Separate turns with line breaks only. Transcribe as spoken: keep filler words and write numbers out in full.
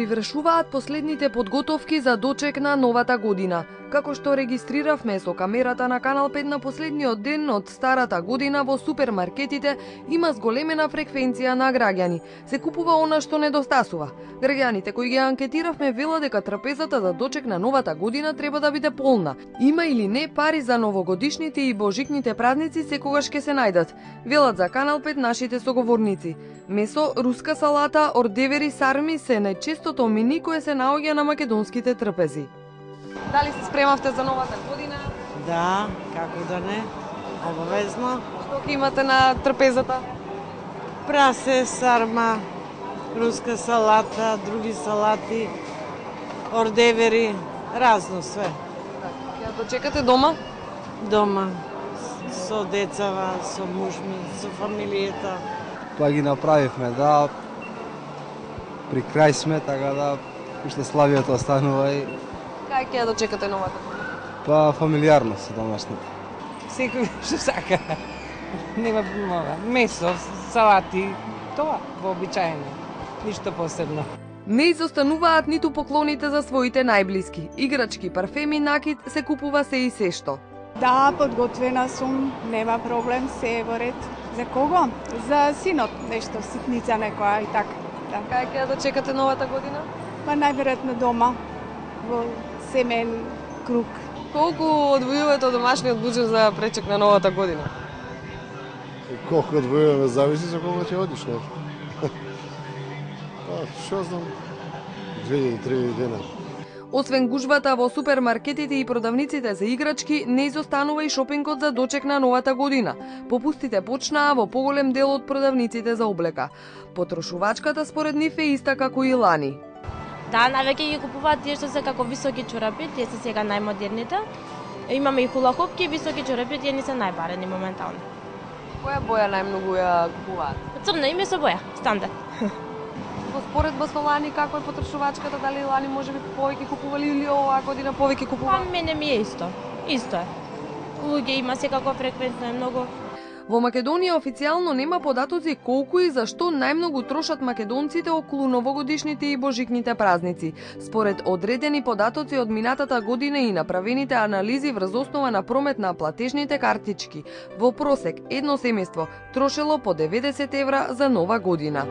привршуваат последните подготовки за дочек на новата година. Како што регистриравме со камерата на Канал пет на последниот ден од старата година, во супермаркетите има зголемена фреквенција на граѓани. Се купува она што недостасува. Граѓаните кои ги анкетиравме велат дека трпезата за дочек на новата година треба да биде полна. Има или не пари за новогодишните и божикните празници секогаш ќе се најдат. Велат за Канал пет нашите соговорници. Месо, руска салата, ордевери, сарми се најчестото мини кое се наоѓа на македонските трпези. Дали се спремавте за новата година?
Да, како да не, обавезно.
Што ќе имате на трпезата?
Прасе, сарма, руска салата, други салати, ордевери, разно све.
Ќе дочекате дома?
Дома, со децава, со муж ми, со фамилијата.
Тоа ги направивме, да, при крај сме, така да уште славието останува и...
Кај ќе ја дочекате новата година?
Па фамилиарно со домашните.
Секој што сака. Нема мова. Месо, салати, тоа вообичаено. Ништо посебно.
Не изостануваат ниту поклоните за своите најблиски. Играчки, парфеми, накид се купува се и се што.
Да, подготвена сум, нема проблем, се е во ред. За кого? За синот, нешто, ситница некоја и така. Да.
Кај ќе ја дочекате новата година?
Па најверојатно дома, во семен круг.
Колку одвојувате од домашниот буџет за пречек на новата година?
Колку одвојуваме зависи за кога ќе одиш, не? Па, што знам, две-три дена.
Освен гужвата во супермаркетите и продавниците за играчки, не изостанува и шопингот за дочек на новата година. Попустите почнаа во поголем дел од продавниците за облека. Потрошувачката според нив е иста како и лани.
Да, навеќе ги купуваат тие што се како високи чорапи, тие се сега најмодерните. Имаме и хулахопки, високи чорапи, тие ни се најбарени моментално.
Која боја најмногу ја купуваат?
Црна и месо боја, стандард.
Во споредба со лани, како е потрошувачката, дали лани можеби повеќе купували или оваа година повеќе купуваат?
Па мене ми е исто. Исто е. Луѓе има секако фреквентно е многу.
Во Македонија официјално нема податоци колку и зашто најмногу трошат македонците околу новогодишните и божикните празници. Според одредени податоци од минатата година и направените анализи врз основа на промет на платежните картички, во просек едно семејство трошело по деветдесет евра за нова година.